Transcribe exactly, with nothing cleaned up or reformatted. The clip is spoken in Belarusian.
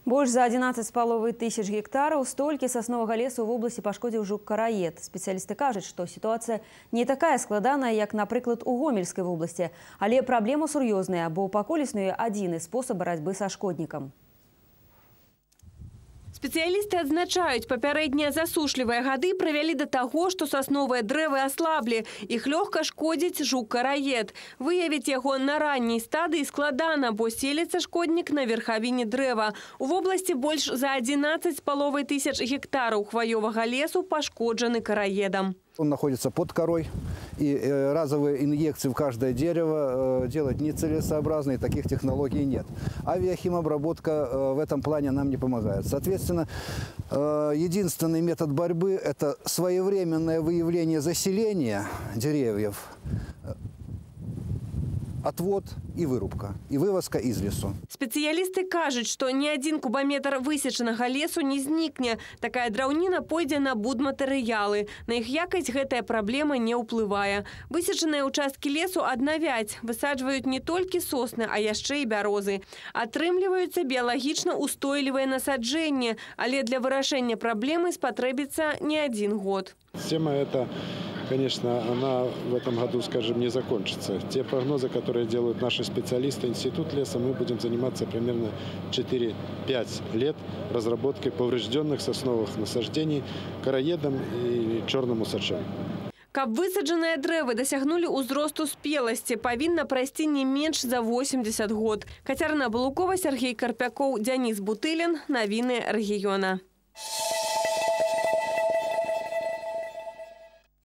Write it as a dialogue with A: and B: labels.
A: Больш за адзінаццаць з паловай тысяч гектараў столькі сасновага лесу ў вобласці пашкодзіў жук-караед. Спецыялісты кажуць, што сітуацыя не такая складаная, як, напрыклад, у Гомельскай вобласці, але праблема сур'ёзная, бо пакуль існуе адзіны спосаб барацьбы са шкоднікам.
B: Спецыялісты адзначаюць, папярэднія засушлівыя гады прывялі да таго, што сасновыя дрэвы аслаблі. Іх лёгка шкодзіць жук-караед. Выявіць яго на ранняй стадыі складана, бо селіцца шкоднік на верхавіне дрэва. У вобласці больш за адзінаццаць з паловай тысяч гектараў хваёвага лесу пашкоджаны караедам.
C: Он находится под корой, и разовые инъекции в каждое дерево делать нецелесообразно, и таких технологий нет. Авиахимобработка в этом плане нам не помогает. Соответственно, единственный метод борьбы – это своевременное выявление заселения деревьев, отвод и вырубка, и вывозка из лесу.
B: Спецыялісты кажуць, што ні адзін кубаметр высечанага лесу не знікне. Такая драўніна пойдзе на будматэрыялы. На іх якасць гэтая праблема не ўплывае. Высечаныя ўчасткі лесу аднавяць. Высаджваюць не толькі сосны, а яшчэ і бярозы. Атрымліваюцца біялагічна устойлівыя насаджэнні, але для вырашэння праблемы спатрэбіцца не адзін год.
D: Тема эта, конечно, она в этом году, скажем, не закончится. Те прогнозы, которые делают наши специалисты, Институт леса, мы будем заниматься примерно четыре-пять лет разработкой поврежденных сосновых насаждений караедом и черным усачом.
B: Каб высаджаныя дрэвы дасягнулі ўзросту спеласці, павінна прайсці не менш за восемьдесят год. Кацярына Балукова, Сергей Карпякоў, Дзяніс Бутылін. Навіны рэгіёна.